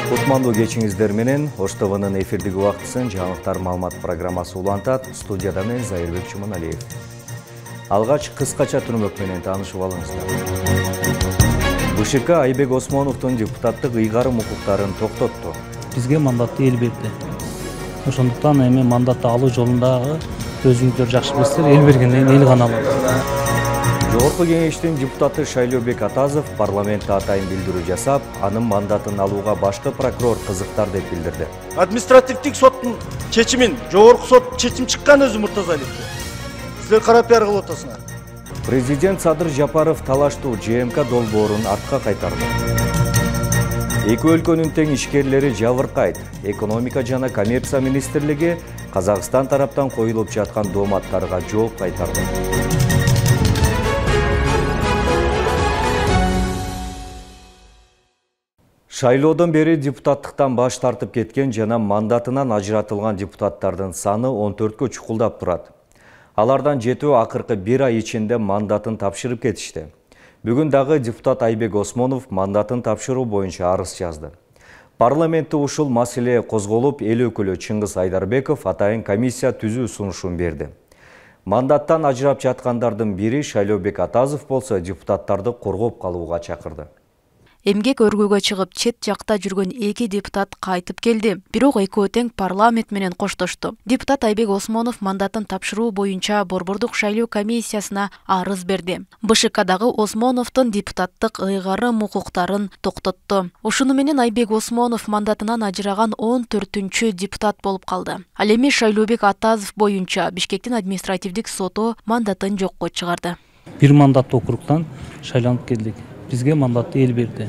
Кутмандуу кечиңиздер менен Ош ТВнын эфирдик убактысын жаңылыктар маалымат программасы улантат. Студияда мен Зайырбек Чуманалиев. Алгач кыскача түрмөк менен таанышып алыңыздар. БШК Айбек Осмоновдун депутаттык ыйгарым укуктарын токтотту. Бизге мандатты эл берди. Ошондуктан эми мандатты алуу жолундагы өзүңүздөр жакшы билесиздер, эл бергенден эл гана алат. Жогорку кеңештин депутаты Шайлообек Атазов парламентте атайын билдирүү жасап, анын мандатын алууга башкы прокурор кызыктар деп билдирди. Административдик соттун чечимин жогорку сот чечим чыккан өзү Муртазалиевке. Силер кара пиар кылып атасыңар. Президент Садыр Жапаров талаштуу ЖМК долбоорун артка кайтарды. Эки өлкөнүн тең ишкерлери жабыркайт. Экономика жана коммерция министрлиги Казакстан тараптан коюлуп жаткан дооматтарга жооп кайтарды. Шайлоодон бери депутаттыктан баш тартып кеткен жана мандатынан ажыратылган депутаттардын саны 14кө чукулдап турат. Алардан 7 акыркы 1 ай ичинде мандатын тапшырып кетишти. Бүгүн дагы депутат Айбек Осмонов мандатын тапшыруу боюнча арыз жазды. Парламентте ушул маселе козголуп, эл өкүлү Чыңгыз Айдарбеков атайын комиссия түзүү сунушун берди. Мандаттан ажырап жаткандардын бири Шайлообек Атазов болсо депутаттарды коргоп калууга чакырды. Эмгек өргүүгө чыгып, чет жакта жүргөн 2 депутат кайтып келди. Бирок экөө тең парламент менен коштошту. Депутат Айбек Осмонов мандатын тапшыруу боюнча Борбордук шайлоо комиссиясына арыз берди. БШКдагы Осмоновдун депутаттык ыйгарым укуктарын токтотту. Ушуну менен Айбек Осмонов мандатынан ажыраган 14-түнчү депутат болуп калды. Ал эми Шайлообек Атазов боюнча Бишкектин административдик соту мандатын жокко чыгарды. Бир мандаттуу округтан шайланып келдик. Бизге мандатты эл берди.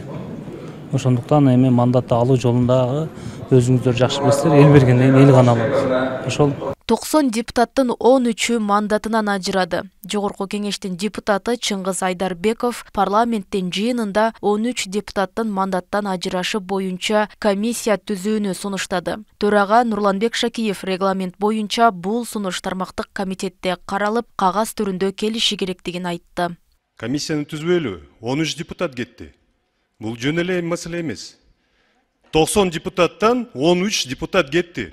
Ошондуктан эми мандатты алуу жолундагы өзүңүздөр жакшы билесиздер, эл бергенден эл гана алат. Ошол 90 депутаттын 13-ү мандатынан ажырады. Жогорку кеңештин депутаты Чыңгыз Айдарбеков парламенттин жыйынында 13 депутаттын мандаттан ажырашы боюнча комиссия түзүүнү сунуштады. Төрага Нурланбек Шакиев регламент боюнча бул сунуш тармактык комитетте каралып, кагаз түрүндө келиши керектигин айтты. Комиссияны түзбөйлү, 13 депутат кетти. Бул жөн эле маселе эмес. 90 депутаттан 13 депутат кетти.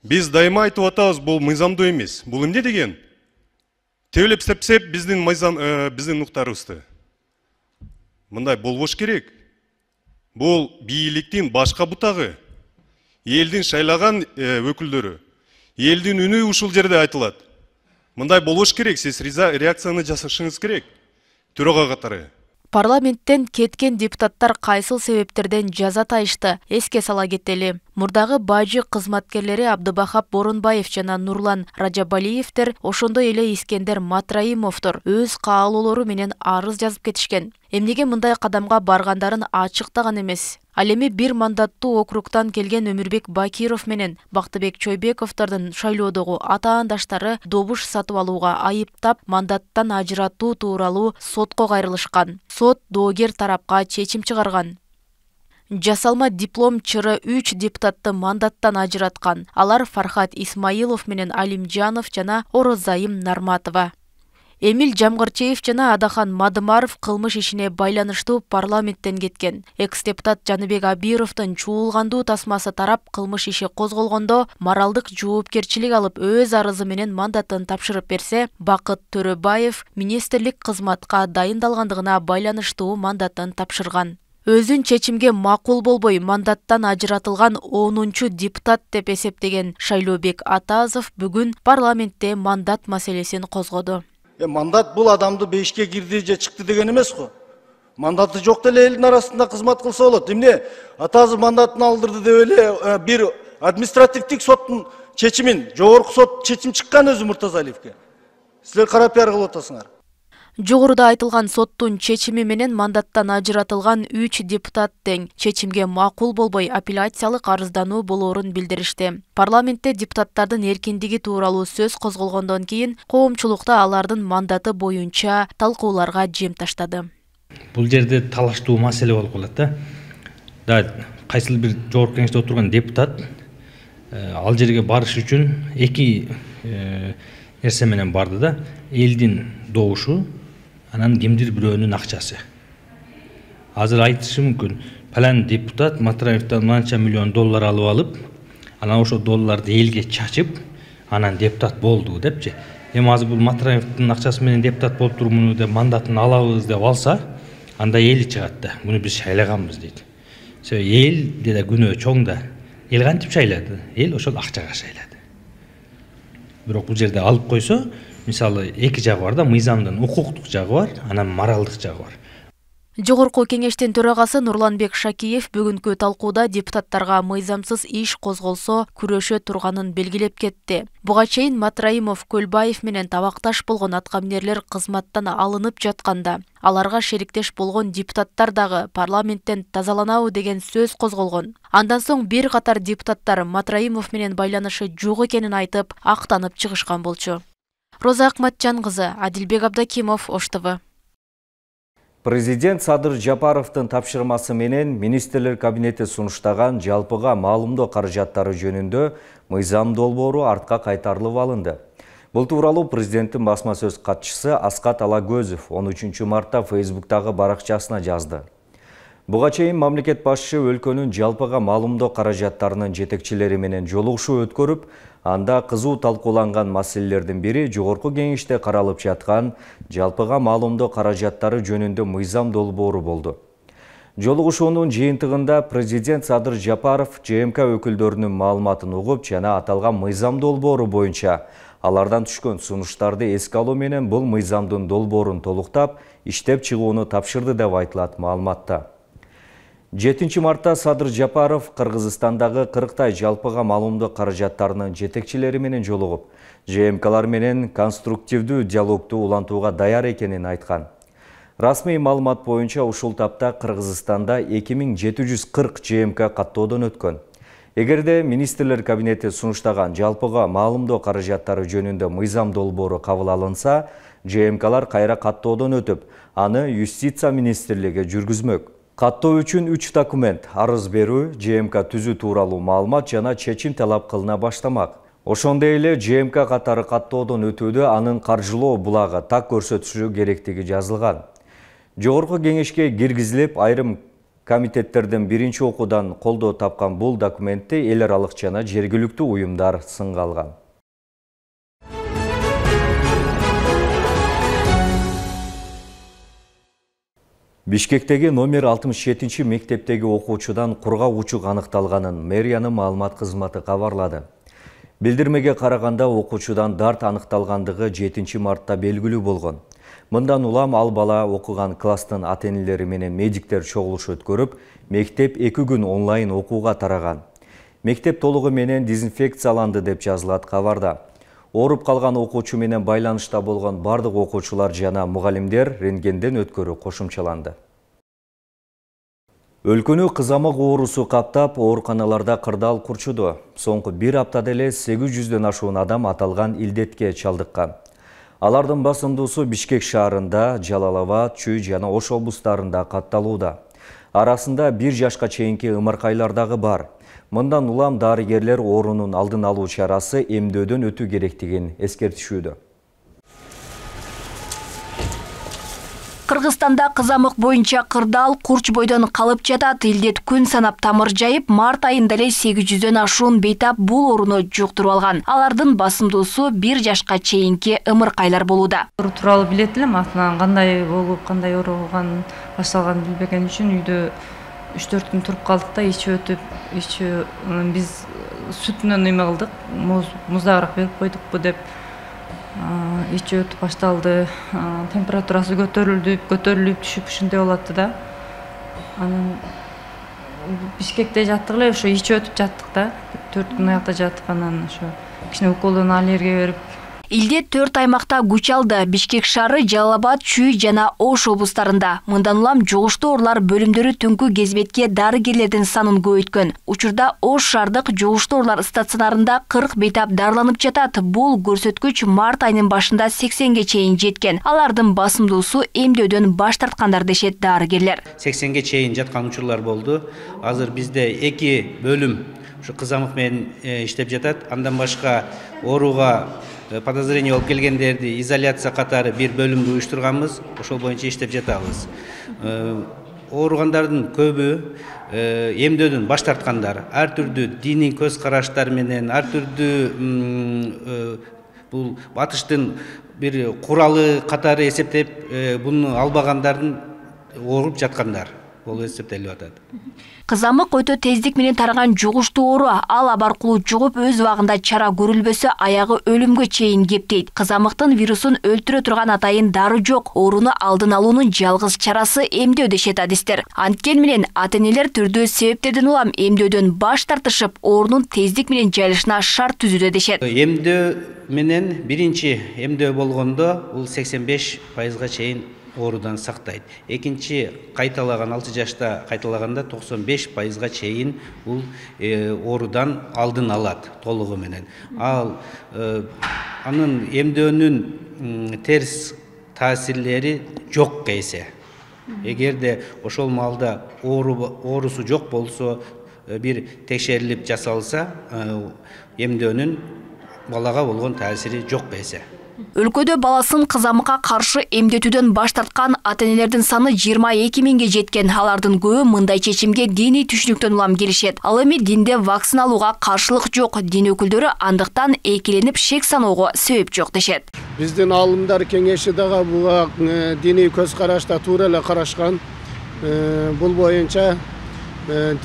Биз дайыма айтып атабыз, бул мыйзамдуу эмес. Бул эмне деген? Тебелеп сепсеп биздин уктарыбызды. Мындай болбош керек. Бул бийликтин башка бутагы. Элдин шайлаган өкүлдөрү. Элдин үнү ушул жерде айтылат. Мындай болбош керек, сиз реакцияны жасашыңыз керек. Төрага катары. Парламенттен кеткен депутаттар кайсыл себептерден жаза тайышты, эске сала кетели. Мурдагы бажы кызматкерлери Абдыбахап Борунбаев жана Нурлан Ражабалиевтер, ошондой эле Искендер Матраимовдор өз каалоолору менен арыз жазып кетишкен. Эмнеге мындай кадамга баргандарын ачыктаган эмес. Ал эми бир мандаттуу округтан келген Өмүрбек Бакиров менен Бактыбек Чойбековдордун шайлоодогу атаандаштары добуш сатып алууга айыптап, мандаттан ажыратуу тууралуу сотко кайрылышкан. Сот доогер тарапка чечим чыгарган. Жасалма диплом чыры 3 депутатты мандаттан ажыраткан. Алар Фархат Исмаилов менен Алимжанов жана Орозайым Нарматова. Эмил Жамгырчиев жана Адахан Мадымаров кылмыш ишине байланыштуу парламенттен кеткен. Экс-депутат Жаныбек Абировдун чуулгандуу тасмасы тарап кылмыш иши козголгондо моралдык жоопкерчилик алып өз арызы менен мандатын тапшырып берсе, Бакыт Төрөбаев министрлик кызматка дайындалгандыгына байланыштуу мандатын тапшырган. Өзүн чечимге макул болбой мандаттан ажыратылган 10-чу депутат деп эсептеген Шайлообек Атазов бүгүн парламентте мандат маселесин козгоду. Мандат бул адамды бешке кирди же чыкты деген эмес го. Мандаты жок деле элдин арасында кызмат кылса болот. Эмне Атазов мандатын алдырды деп эле бир административдик соттун чечимин жогорку сот чечим чыккан өзү Муртазалиевке. Силер кара пиар кылып атасыңар. Жогоруда айтылган соттун чечими менен мандаттан ажыратылган 3 депутат тең чечимге макул болбой апелляциялык арыздануу болоорун билдиришти. Парламентте депутаттардын эркиндиги тууралуу сөз козголгондон кийин коомчулукта алардын мандаты боюнча талкууларга жем таштады. Бул жерде талаштуу маселе болуп калат да. Кайсыл бир жогорку кеңеште отурган депутат ал жерге барыш үчүн 2 нерсе менен барды да. Элдин добушу, анан кимдир бирөөнүн акчасы. азыр айтышы мүмкүн, палан депутат Матраевден манча миллион доллар алып алып, анан ошо долларды элге чачып, анан депутат болду депчи. Эми азыр бул Матраевдин акчасы менен депутат болуп турмун деп мандатын алабыз деп алса, анда эл чыгат да. Муну биз шайлаганбыз дейт. Эл деде күнөө чоң да. Эл кантип шайлады? Эл ошол акчага шайлады. Бирок бул жерде алып койсо, мисалы эки жагы бар да, мыйзамдын укуктук жагы бар, анан моралдык жагы бар. Жогорку кеңештин төрагасы Нурланбек Шакиев бүгүнкү талкууда депутаттарга мыйзамсыз иш козголсо күрөшө турганын белгилеп кетти. Буга чейин Матраимов, Көлбаев менен табакташ болгон аткаминерлер кызматтан алынып жатканда, аларга шериктеш болгон депутаттар дагы парламенттен тазаланабы деген сөз козголгон. Андан соң бир катар депутаттар Матраимов менен байланышы жок экенин айтып, актанып чыгышкан болчу. Роза Акматжан кызы, Адилбек Абдакимов, Ош ТВ. Президент Садыр Жапаровдун тапшырмасы менен министрлер кабинети сунуштаган жалпыга маалымдоо каражаттары жөнүндө мыйзам долбоору артка кайтарылып алынды. Бул тууралуу президенттин басма сөз катчысы Аскат Алагөзов 13 мартта Facebook'тагы баракчасына жазды. Буга чейин мамлекет башчы өлкөнүн жалпыга маалымдоо каражаттарынын жетекчилери менен жолугушуу өткөрүп, анда кызуу талкууланган маселелердин бири жогорку кеңеште каралып жаткан жалпыга маалымдоо каражаттары жөнүндө мыйзам долбоору болду. Жолугушуунун жыйынтыгында президент Садыр Жапаров ЖМК өкүлдөрүнүн маалыматын угуп жана аталган мыйзам долбоору боюнча алардан түшкөн сунуштарды эске алуу менен бул мыйзамдын долбоорун толуктап, иштеп чыгууну тапшырды деп айтылат маалыматта. 7 мартта Садыр Жапаров Кыргызстандагы 40 жалпыга маалымдоо каражаттарынын жетекчилери менен жолугуп, ЖМКлар менен конструктивдүү диалогду улантууга даяр экенин айткан. Расмий маалымат боюнча ушул тапта Кыргызстанда 2740 ЖМК каттоодон өткөн. Эгерде министрлер кабинети сунуштаган жалпыга маалымдоо каражаттары жөнүндө мыйзам долбоору кабыл алынса, ЖМКлар кайра каттоодон өтүп, аны Юстиция министрлиги жүргүзмөк. Каттоо үчүн 3 документ, арыз берүү, ЖМК түзүү тууралуу маалымат жана чечим талап кылына баштамак. Ошондой эле ЖМК катары каттоодон өтүүдө анын каржылоо булагы так көрсөтүшү керектиги жазылган. Жогорку кеңешке киргизилип, айрым комитеттерден биринчи окуудан колдоо тапкан бул документти эл аралык жана жергиликтүү уюмдар сынга алган. Бишкектеги номер 67 мектептеги окуучудан кургак учук аныкталганын мэриянын маалымат кызматы кабарлады. Билдирмеге караганда окуучудан дарт аныкталгандыгы 7 мартта белгилүү болгон. Мындан улам ал бала окуган класстын ата-энелери менен медиктер чогулуш өткөрүп, мектеп 2 күн онлайн окууга тараган. Мектеп толугу менен дезинфекцияланды деп жазылат кабарда. Ооруп калган окуучу менен байланышта болгон бардык окуучулар жана мугалимдер рентгенден өткөрүү кошумчаланды. Өлкөнү кызамык оорусу каптап, ооруканаларда кырдаал курчуду. Соңку 1 аптада эле 800дөн ашуун адам аталган илдетке чалдыккан. Алардын басымдуусу Бишкек шаарында, Жалал-Абад, Чүй жана Ош облустарында катталууда. Арасында 1 жашка чейинки ымыркайлар дагы бар. Мындан улам дарыгерлер оорунун алдын алуу чарасы эмдөөдөн өтүү керектигин эскертишүүдө. Кыргызстанда кызамык боюнча кырдаал курч бойдон калып жатат. Илдет күн санап тамыр жайып, март айында эле 800дөн ашуун бейтап бул ооруну жуктуруп алган. Алардын басымдуусу 1 жашка чейинки ымыркайлар болууда. Оору тууралуу билет элем, атынан кандай болуп, кандай ооруган башталганын билбеген үчүн үйдө 3-4 күн туруп калдык да, ичип өтүп, биз сүтүнөн эме кылдык, муздагыраак берип койдукпу деп ичип өтүп башталды. Температурасы көтөрүлүп түшүп ушундай болот да. Анан Бишкекте жаттык эле, ошо ичип өтүп жаттык да. 4 күн аякта жаттык, анан ошо кичине уколдон аллергия берип. Илдет 4 аймакта күч алды. Бишкек шаары, Жалал-Абад, Чүй жана Ош облустарында. Мындан улам жугуштуу оорулар бөлүмдөрү түнкү кезбетке дарыгерлердин санын көбөйткөн. Учурда Ош шаардык жугуштуу оорулар стационарында 40 бейтап дарыланып жатат. Бул көрсөткүч март айынын башында 80ге чейин жеткен. Алардын басымдуусу эмдөөдөн баш тарткандар дешет дарыгерлер. 80ге чейин жаткан учурлар болду. Азыр бизде 2 бөлүм ушу кызамык менен иштеп жатат. Андан башка ооруга подозрение болуп келгендерди изоляция катары 1 бөлүмдү уюштурганбыз. Ошол боюнча иштеп жатабыз. ооругандардын көбү эмдөөдөн баш тарткандар. Ар түрдүү диний көз караштар менен, ар түрдүү бул батыштын бир куралы катары эсептеп буну албагандардын ооруп жаткандар болуп эсептелип атат. Кызамык өтө тездик менен тараган жугуштуу оору, ал абаркулуу жугуп өз убагында чара көрүлбөсө аягы өлүмгө чейин кептейт. Кызамыктын вирусун өлтүрө турган атайын дары жок. Ооруну алдын алуунун жалгыз чарасы эмдөө дешет адистер. Анткени менен ата-энелер түрдүү себептерден улам эмдөөдөн баш тартышып, оорунун тездик менен жайылышына шарт түзүүдө дешет. Эмдөө менен биринчи эмдөө болгондо бул 85%га чейин оорудан сактайт. Экинчи кайталаган 6 жашта кайталаганда 95%га чейин бул оорудан алдын алат толугу менен. Ал анын эмдөөнүн терс таасирлери жок кейсе. Эгерде ошол маалда оорусу жок болсо, бир текшерилип жасалса, эмдөөнүн балага болгон таасири жок кейсе. Өлкөдө баласын кызамыкка каршы эмдетүүдөн баш тарткан ата-энелердин саны 22 миңге жеткен. Алардын көбү мындай чечимге диний түшүнүктөн улам келишет. Ал эми динде вакцина алууга каршылык жок. Дин өкүлдөрү андыктан экеленип шек саноого себеп жок дешет. Биздин аалымдар кеңеши дагы буга диний көз карашта туура эле карашкан. Бул боюнча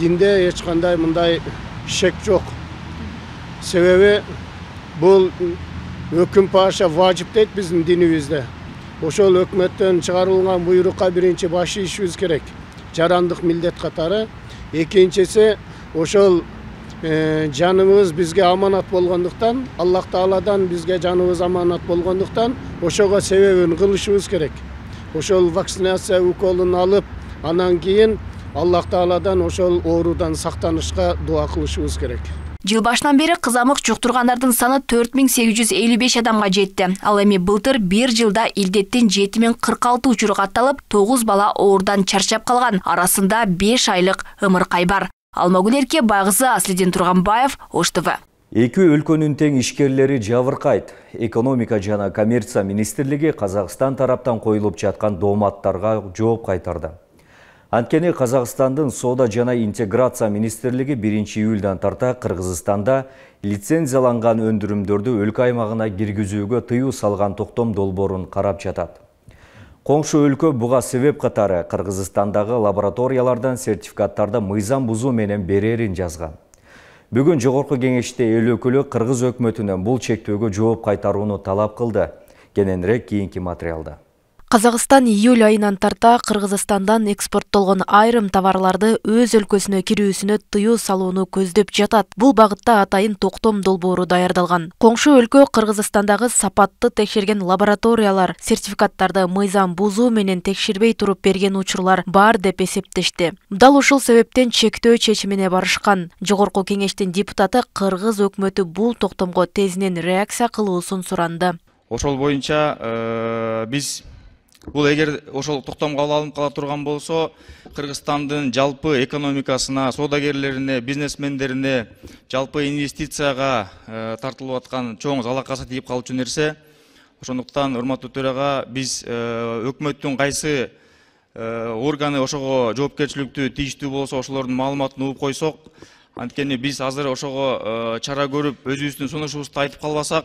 динде эч кандай мындай шек жок. Себеби бул өкүм паша важип дейт биздин динибизде. Ошол өкмөттөн чыгарылган буйрукка биринчи баш ийишибиз керек. Жарандык милдет катары. Экинчиси ошол жаныбыз бизге аманат болгондуктан, Аллах Тааладан бизге жаныбыз аманат болгондуктан, ошого себебин кылышыбыз керек. Ошол вакцинация уколун алып, анан кийин Аллах Тааладан ошол оорудан сактанышка дуа кылышыбыз керек. Жыл башынан бери кызамык жуктургандардын саны 4855 адамга жетти. Ал эми былтыр бир жылда илдеттин 7046 учуру катталып, 9 бала оорудан чарчап калган. Арасында 5 айлык ымыркай бар. Алмагүл Эрке, Байгызы, Аслидин Турганбаев, Ош ТВ. Эки өлкөнүн тең ишкерлери жабыркайт. Экономика жана коммерция министрлиги Казакстан тараптан коюлуп жаткан дооматтарга жооп кайтарды. Анткени Казакстандын соода жана интеграция министрлиги 1-июлдан тарта Кыргызстанда лицензияланган өндүрүмдөрдү өлкө аймагына киргизүүгө тыюу салган токтом долбоорун карап жатат. Коңшу өлкө буга себеп катары Кыргызстандагы лабораториялардан сертификаттарды мыйзам бузуу менен берерин жазган. Бүгүн жогорку кеңеште эл өкүлү Кыргыз өкмөтүнөн бул чектөөгө жооп кайтарууну талап кылды. Кененирээк кийинки материалда. Казакстан июль айынан тарта Кыргызстандан экспорттолгон айрым товарларды өз өлкөсүнө кирүүсүнө тыюу салууну көздөп жатат. Бул багытта атайын токтом долбоору даярдалган. Коңшу өлкө Кыргызстандагы сапатты текшерген лабораториялар сертификаттарды мыйзам бузуу менен текшербей туруп берген учурлар бар деп эсептешти. Дал ушул себептен чектөө чечимине барышкан. Жогорку кеңештин депутаты Кыргыз өкмөтү бул токтомго тезинен реакция кылуусун суранды. Ошол боюнча биз бул эгер ошол токтом кабыл алынып кала турган болсо, Кыргызстандын жалпы экономикасына, соодагерлерине, бизнесмендерине, жалпы инвестицияга тартылып аткан чоң залакасы тийип калчу нерсе. Ошондуктан, урматтуу төрага, биз өкмөттүн кайсы органы ошого жоопкерчиликтүү тийиштүү болсо, ошолордун маалыматын угуп койсок, анткени биз азыр ошого чара көрүп, өзүбүздүн сунушубузду айтып калбасак,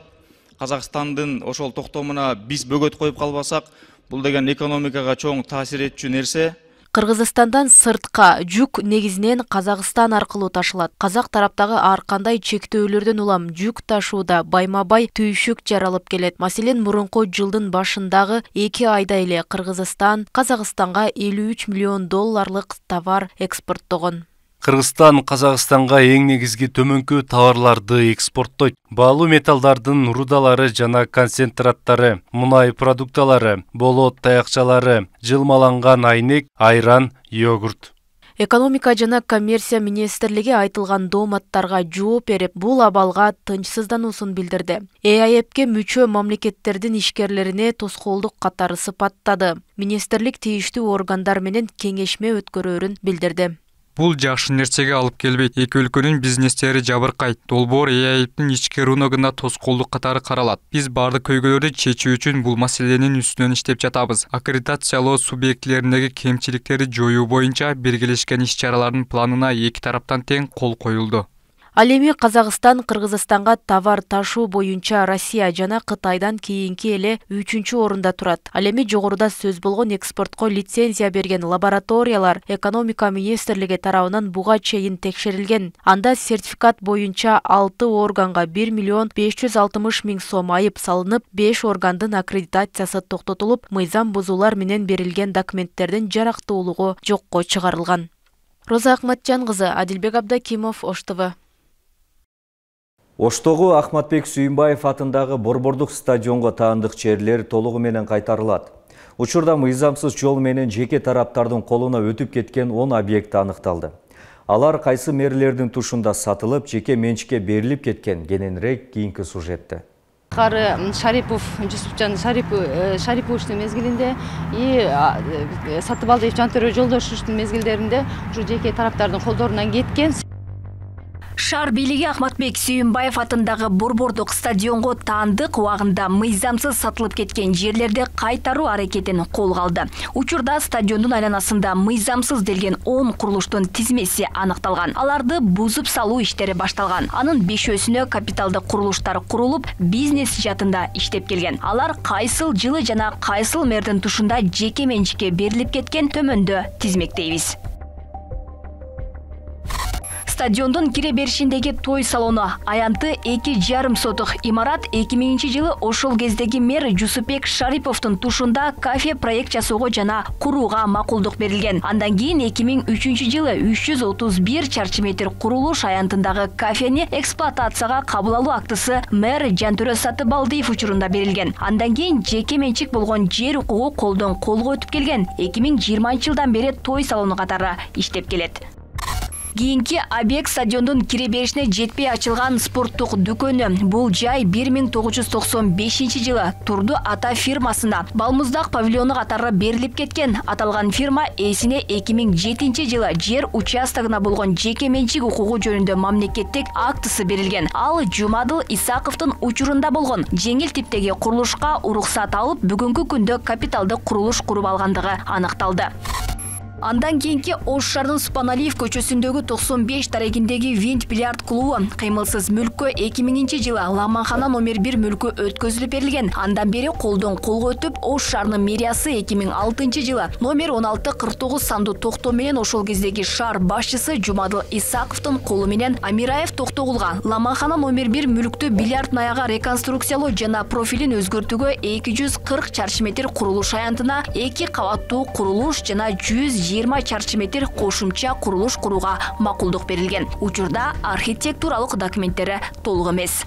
Казакстандын ошол токтомуна биз бөгөт коюп калбасак, бул деген экономикага чоң таасир этчү нерсе. Кыргызстандан сыртка жүк негизинен Казакстан аркылуу ташылат. Казак тараптагы ар кандай чектөөлөрдөн улам жүк ташууда байма-бай түйшүк жаралып келет. Маселен, мурунку жылдын башындагы 2 айда эле Кыргызстан Казакстанга $53 миллион товар экспорттогон. Кыргызстан Казакстанга эң негизги төмөнкү товарларды экспорттойт. Баалуу металлдардын рудалары жана концентраттары, мунай продукталары, болот таякчалары, жылмаланган айнек, айран, йогурт. Экономика жана коммерция министрлиги айтылган дооматтарга жооп берип, бул абалга тынчсыздануусун билдирди. ЭАЭПке мүчө мамлекеттердин ишкерлерине тоскоолдук катары сыпаттады. Министрлик тийиштүү органдар менен кеңешме өткөрөөрүн билдирди. Бул жакшы нерсеге алып келбейт. Эки өлкөнүн бизнестери жабыркайт. Долбоор ЭАИБтин ички рыногуна тоскоолдук катары каралат. Биз бардык көйгөйлөрдү чечүү үчүн бул маселенин үстүнөн иштеп жатабыз. Аккредитациялоо субъектилериндеги кемчиликтерди жоюу боюнча биргелешкен иш-чаралардын планына эки тараптан тең кол коюлду. Ал эми Казакстан Кыргызстанга товар ташуу боюнча Россия жана Кытайдан кийинки эле 3-чү орунда турат. Ал эми жогоруда сөз болгон экспортко лицензия берген лабораториялар экономика министрлиги тарабынан буга чейин текшерилген. Анда сертификат боюнча 6 органга 1 миллион 560 миң сом айып салынып, 5 органдын аккредитациясы токтотулуп, мыйзам бузуулар менен берилген документтердин жарактуулугу жокко чыгарылган. Роза Акматжан кызы, Адилбек Абдакимов, Ош ТВ. Оштогу Ахматбек Сүйүнбаев атындагы борбордук стадионго таандык жерлер толугу менен кайтарылат. Учурда мыйзамсыз жол менен жеке тараптардын колуна өтүп кеткен 10 объект аныкталды. Алар кайсы мэрлердин тушунда сатылып, жеке менчикке берилип кеткен, кененирээк кийинки сюжетте. Кары Шарипов, Жусупжан Шариповичтин мезгилинде и Сатыбалдиев Жантөрө Жолдошевичтин мезгилдеринде ушу жеке тараптардын колдорунан кеткен. Шаар бийлиги Ахматбек Сүйүнбаев атындагы борбордук стадионго таандык убагында мыйзамсыз сатылып кеткен жерлерди кайтаруу аракетин колго алды. Учурда стадиондун айланасында мыйзамсыз делген 10 курулуштун тизмеси аныкталган. Аларды бузуп салуу иштери башталган. Анын 5-өсүнө капиталдык курулуштар курулуп, бизнес жаатында иштеп келген. Алар кайсыл жылы жана кайсыл мэрдин тушунда жеке менчикке берилип кеткен төмөндө тизмектейбиз. Стадиондун кире беришиндеги той салону аянты 2,5 сотук имарат 2000-жылы ошол кездеги мэр Жусупбек Шариповдун тушунда кафе проект жасоого жана курууга макулдук берилген. Андан кийин 2003-жылы 331 чарчы метр курулуш аянтындагы кафени эксплуатацияга кабыл алуу актысы мэр Жантөрө Сатыбалдиев учурунда берилген. Андан кийин жеке менчик болгон жер укугу колдон колго өтүп келген. 2020-жылдан бери той салону катары иштеп келет. Кийинки объект стадиондун кире беришине жетпей ачылган спорттук дүкөнү. Бул жай 1995-жылы Турду Ата фирмасына балмуздак павильону катары берилип кеткен. Аталган фирма ээсине 2007-жылы жер участогуна болгон жеке менчик укугу жөнүндө мамлекеттик актысы берилген. Ал Жумадыл Исаковдун учурунда болгон жеңил типтеги курулушка уруксат алып, бүгүнкү күндө капиталдык курулуш куруп алгандыгы аныкталды. Андан кийинки Ош шаарынын Супаналиев көчөсүндөгү 95 дарегиндеги Винт бильярд клубу кыймылсыз мүлккө 2000-жылы Ламанхана номер 1 мүлкү өткөзүлүп берилген. Андан бери колдон колго өтүп, Ош шаарынын мэриясы 2006-жылы номер 1649 сандуу токтоо менен ошол кездеги шаар башчысы Жумадыл Исаковдун колу менен Амираев Токтогулга Ламанхана номер 1 мүлктү бильярд наяга реконструкциялоо жана профилин өзгөртүүгө 240 чарчы метр курулуш аянтына 2 кабаттуу курулуш жана 120 чарчы метр кошумча курулуш курууга макулдук берилген. Учурда архитектуралык документтери толук эмес.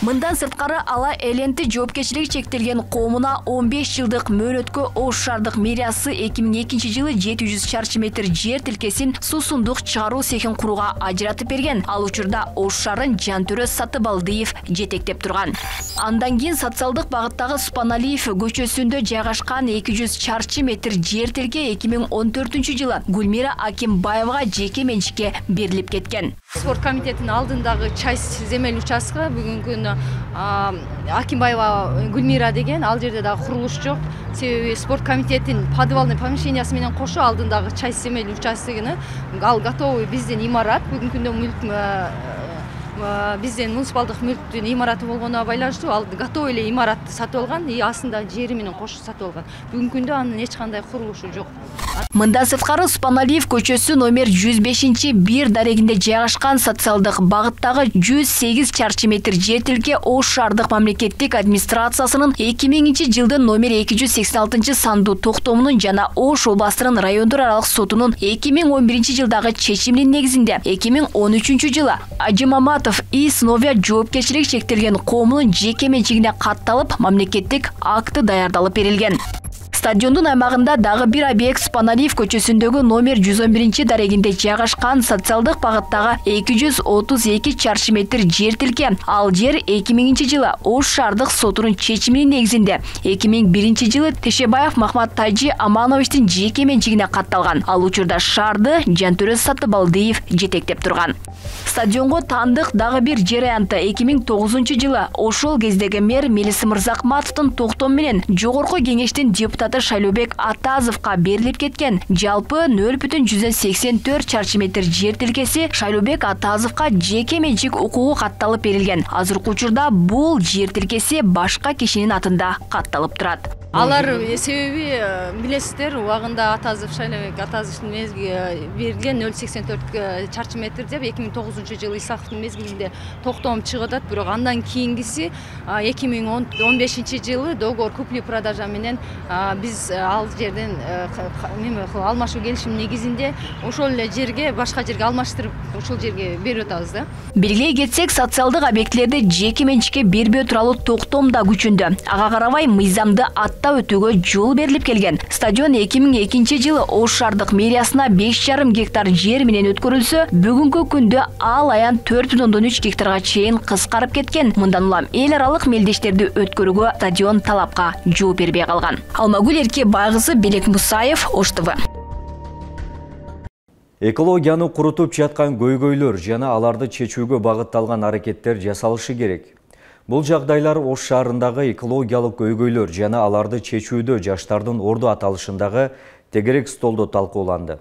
Мындан сырткары ала эленти жоопкерчилиги чектелген коомуна 15 жылдык мөөнөткө Ош шаардык мэриясы 2002-жылы 700 чарчы метр жер тилкесин суусундук чыгаруу цехин курууга ажыратып берген. Ал учурда Ош шаарын Жантөрө Сатыбалдиев жетектеп турган. Андан кийин социалдык багыттагы Супаналиев көчөсүндө жайгашкан 200 чарчы метр жер тилке 2014-жылы Гүлмира Акимбаевага жеке менчикке берилип кеткен. Спорт комитетинин алдындагы часть земель участка бүгүнкү күндө Акимбаева Гүлмира деген, ал жерде дагы курулуш жок. Себеби спорт комитетинин подвальный помещениясы менен кошо алдындагы часть земель участогуну ал готовый биздин имарат. Бүгүнкү күндө мүлк биздин муниципалдык мүлктүн имараты болгонуна байланыштуу ал готовый эле имаратты сатып алган и астында жери менен кошо сатып алган. Бүгүнкү күндө анын эч кандай курулушу жок. Мындан сырткары Супаналиев көчөсү номер 105-1 дарегинде жайгашкан социалдык багыттагы 108 чарчы метр жер тилке Ош шаардык мамлекеттик администрациясынын 2000-жылдын номер 286 сандуу токтомунун жана Ош областынын райондор аралык сотунун 2011-жылдагы чечиминин негизинде 2013-жылы Ажымаматов ИС Новия жоопкерчилиги чектелген коомунун жеке менчигине катталып, мамлекеттик акты даярдалып берилген. Стадиондун аймагында дагы бир объект Паналиев көчөсүндөгү номер 111 дарегинде жайгашкан социалдык багыттагы 232 чарчы метр жер тилке. Ал жер 2000 жылы Ош шаардык сотунун чечиминин негизинде 2001 жылы Тешебаев Махмат Тайжи Амановичтин жеке менчигине катталган. Ал учурда шаарды Жантөрө Сатыбалдиев жетектеп турган. Стадионго таандык дагы бир жер аянты 2009 жылы ошол кездеги мэр Мелис Мырзакматовдун токтому менен жогорку кеңештин депутаты Шайлообек Атазовго берилип кеткен. Жалпы 0,184 чарчы метр жер тилкеси Шайлообек Атазовго жеке менчик укугу катталып берилген. Азыркы учурда бул жер тилкеси башка кишинин атында катталып турат. Алар себеби билесиздер, убагында Шайлообек Атазовдун мезгилинде берилген 0,84 чарчы метр деп 2009 жылы Исаковдун мезгилинде токтом чыгып атат. Бирок андан кийингиси 2015 жылы договор купли-продажа менен биз ал жерден алмашуу келишим негизинде ошол эле жерге башка жерге алмаштырып ошол жерге берип атабыз да. Белгилей кетсек, социалдык объектилерди жеке менчикке бербөө тууралуу токтом да күчүндө. Ага карабай мыйзамды өтүүгө жол берилип келген. Стадион 2002 жылы Ош шаардык мэриясына 5,5 гектар жер менен өткөрүлсө, бүгүнкү күндө ал аян 4,3 гектарга чейин кыскарып кеткен. Мындан улам эл аралык мелдештерди өткөрүүгө стадион талапка жооп бербей калган. Алмагүл Эркебайкызы, Белек Мусаев, Ош ТВ. Экологияны курутуп жаткан көйгөйлөр жана аларды чечүүгө багытталган аракеттер жасалышы керек. Бул жагдайлар Ош шаарындагы экологиялык көйгөйлөр жана аларды чечүүдө жаштардын орду аталышындагы тегерек столдо талкууланды.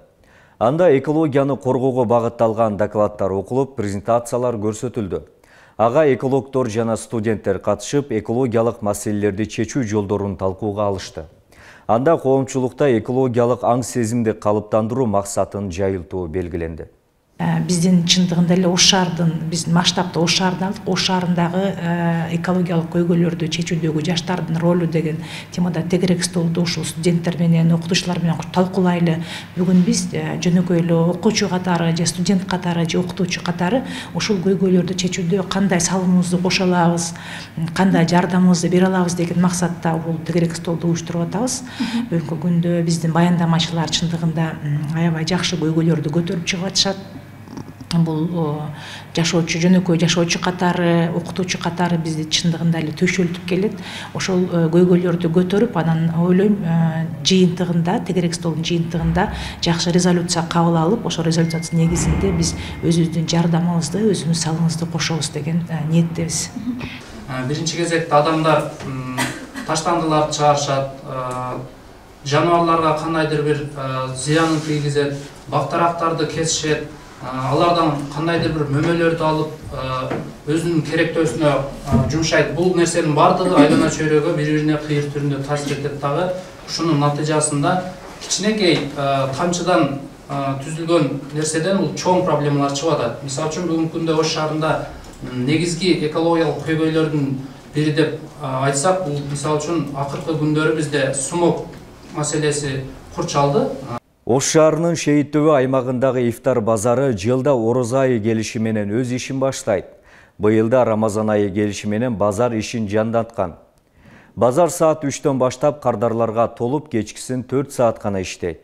Анда экологияны коргоого багытталган докладдар окулуп, презентациялар көрсөтүлдү. Ага экологдор жана студенттер катышып, экологиялык маселелерди чечүү жолдорун талкууга алышты. Анда коомчулукта экологиялык аң сезимди калыптандыруу максатын жайылтуу белгиленди. Биздин чындыгында эле Ош шаардын, биздин масштабта Ош шаарындагы экологиялык көйгөйлөрдү чечүүдөгү жаштардын ролу деген темада тегерек столду ушул студенттер менен, окутуучулар менен талкуулайлы. Бүгүн биз жөнөкөй эле окуучу катары, же студент катары, же окутуучу катары ушул көйгөйлөрдү чечүүдө кандай салымыбызды кошо алабыз, кандай жардамыбызды бере алабыз деген максатта бул тегерек столду уюштуруп атабыз. Бүгүнкү күндө биздин баяндамачылар чындыгында аябай жакшы көйгөйлөрдү көтөрүп чыгып атышат. Бул жашоочу, жөнөкөй жашоочу катары, окутуучу катары бизди чындыгында эле төшөлтүп келет. Ошол көйгөйлөрдү көтөрүп, анан ойлойм жыйынтыгында, тегерек столдун жыйынтыгында жакшы резолюция кабыл алып, ошол резолюциянын негизинде биз өзүбүздүн жардамыбызды, өзүбүздүн салымыбызды кошобуз деген ниеттебиз. Биринчи кезекте адамдар таштандыларды чыгарышат, жаныбарларга кандайдыр бир зыянын тийгизет, бактарактарды кесишет. Алардан кандайдыр бир мөмөлөрдү алып, өзүнүн керектөөсүнө жумшайт. Бул нерсенин бардыгы айлана чөйрөгө бири-бирине кыйыр түрүндө таасир этет дагы. Ушунун натыйжасында кичинекей тамчыдан түзүлгөн нерседен бул чоң проблемалар чыгып атат. Мисалы үчүн бүгүнкү күндө Ош шаарында негизги экологиялык көйгөйлөрдүн бири деп айтсак, бул мисалы үчүн акыркы күндөрү бизде сумок маселеси курчалды. Ош шаарынын Шейиттөбө аймагындагы ифтар базары жылда Орозо айы келиши менен өз ишин баштайт. Быйылда Рамазан айы келиши менен базар ишин жандаткан. Базар саат 3-төн баштап кардарларга толуп, кечкисин 4 саат гана иштейт.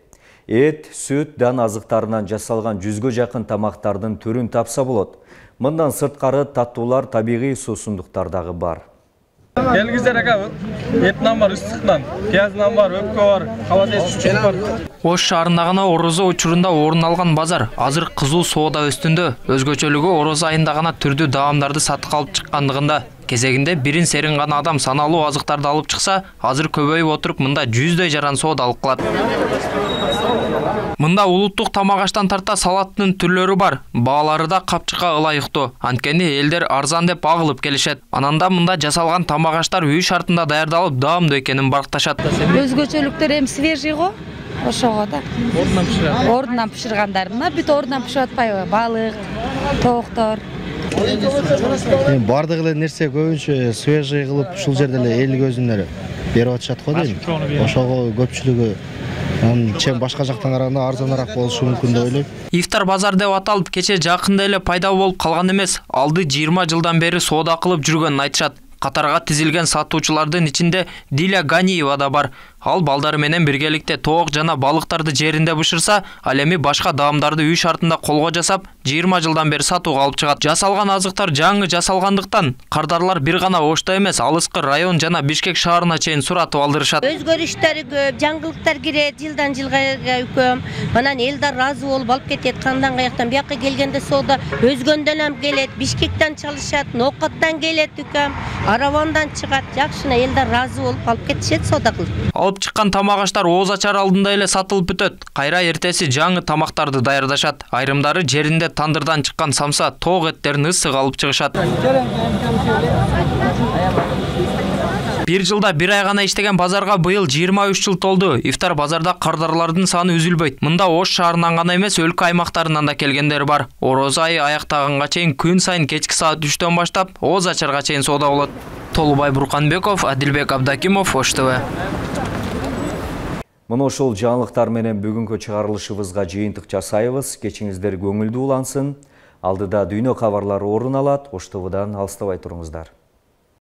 Эт, сүт, дан азыктарынан жасалган 100гө жакын тамактардын түрүн тапса болот. Мындан сырткары таттуулар, табигый суусундуктар дагы бар. Келгиздер ака, этнан бар, ыстыктан, пияздан бар, өпкө бар, кабадес чучук бар. Ош шаарында гана Орозо учурунда орун алган базар азыр кызуу соода үстүндө. Өзгөчөлүгү Орозо айында гана түрдүү даамдарды сатыкка алып чыккандыгында. Кезегинде бирин серин гана адам саналуу азыктарды алып чыкса, азыр көбөйүп отуруп мында 100дөй жаран соода алып калат. Мында улуттук тамак аштан тарта салаттын түрлөрү бар. Баалары да капчыкка ылайыктуу. Анткени элдер арзан деп агылып келишет. Ананда мында жасалган тамак аштар үй шартында даярдалып, даамдуу экенин баркташат. Өзгөчөлүктөр эми свежий го. Ошого да. Ордунан пишират. Ордунан пиширгандар. Мына бүт ордунан пиширип атпайбы? Балык, тооктор. Бардык эле нерсе көбүнчө свежий кылып ушул жерде эле эл көзүнө берип атышат го дейм. Ошого көпчүлүгү чем башка жактан караганда арзаныраак болушу мүмкүн деп ойлойм. Ифтар базар деп аталып кече жакында эле пайда болуп калган эмес. Алды 20 жылдан бери соода кылып жүргөнүн айтышат. Катарга тизилген сатуучулардын ичинде Диля Ганиева да бар. Ал балдары менен биргеликте тоок жана балыктарды жеринде бышырса, ал эми башка даамдарды үй шартында колго жасап, 20 жылдан бери сатууга алып чыгат. Жасалган азыктар жаңы жасалгандыктан кардарлар бир гана Ошто эмес, алыскы район жана Бишкек шаарына чейин суратып алдырышат. Өзгөрүштөр көп, жаңгылыктар кирет, жылдан жылга өкөм. Анан элдер разы болуп алып кетет. Кандан каяктан бияка келгенде соода өзгөндөн ham келет, Бишкектен чалышат, Нокоттан келет үкөм, Аравандан чыгат. Жакшына элдер разы болуп алып кетишет соода кылып. Алып чыккан тамак аштар Ооз ачар алдында эле сатылып бүтөт. Кайра эртеси жаңы тамактарды даярдашат. Айрымдары жеринде тандырдан чыккан самса, тоок эттерин ысык алып чыгышат. Бир жылда бир ай гана иштеген базарга быйыл 23 жыл толду. Ифтар базарда кардарлардын саны үзүлбөйт. Мында Ош шаарынан гана эмес, өлкө аймактарынан да келгендер бар. Ороз айы аяктаганга чейин күн сайын кечки саат 3төн баштап Ооз ачарга чейин соода болот. Толубай Бурканбеков, Адилбек Абдакимов, Ош ТВ. Мына ошол жаңылыктар менен бүгүнкү чыгарылышыбызга жыйынтык жасайбыз. Кечиңиздер көңүлдүү улансын. Алдыда дүйнө кабарлары орун алат. Ош ТВдан алыстабай туруңуздар.